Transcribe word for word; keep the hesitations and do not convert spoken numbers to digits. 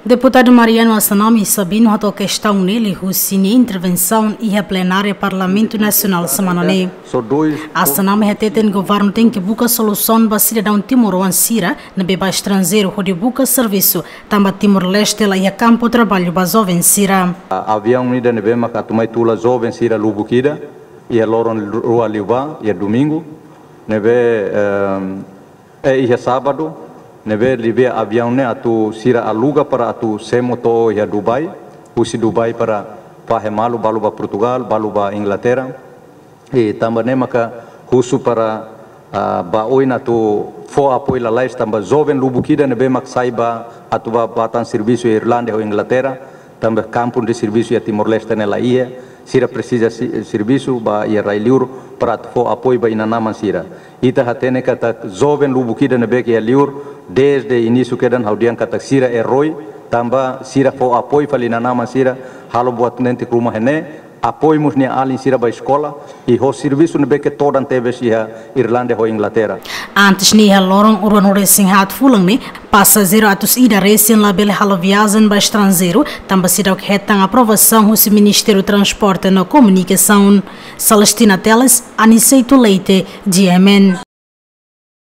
Deputadu Mariano Assanami Sabino hato'o kestaun ne'e liuhusi nia intervensaun iha plenária Parlamentu Nasionál semana ne'e. Assanami hateten governu tenke buka solusaun ba sidadaun timoroan sira ne'ebé ba estranjeiru hodi buka servisu, tanba Timor-Leste la iha kampu traballu ba joven sira. Aviaun ida ne'ebé maka atu mai tula joven sira lubuk ida iha loron rua liubá, iha domingu ne'ebé, eh, iha sábadu, ne'ebé liuliu aviaun ne'e atu sira aluga para atu semo to'o iha Dubai, husi Dubai para fahe malu, balu ba Portugal, balu ba Inglaterra. I tanba ne'e maka husu para, ah, ba oin atu fó apoiu lalais tanba joven lubuk ida ne'ebé mak sai ba atu ba, ba tan servisu iha Irlanda ho Inglaterra, tanba kampu de servisu iha Timor-Leste ne'e la iha, sira presiza si-, servisu ba iha rai-liur para atu fó apoiu ba inan-aman sira. Ita hatene katak joven lubuk ida ne'ebé ke iha liur, dezde inísiu kedan ha'u dehan katak sira eroi, tanba sira fó apoiu fali inan-aman sira, halo buat netik ruma iha ne'e, apoiu mós nia alin sira ba eskola, i ho servisu ne'ebé ke todan tebes iha Irlanda ho Inglaterra. Antes ne'e iha loron ruanulu-resin-haat fulan ne'e, pasajeiru atus ida resin labele halo viajen ba estranjeiru, tanba seidauk hetan aprovasaun husi Ministériu Transporte no Komunikasaun. Celestina Teles, Aniceto Leite, G M N.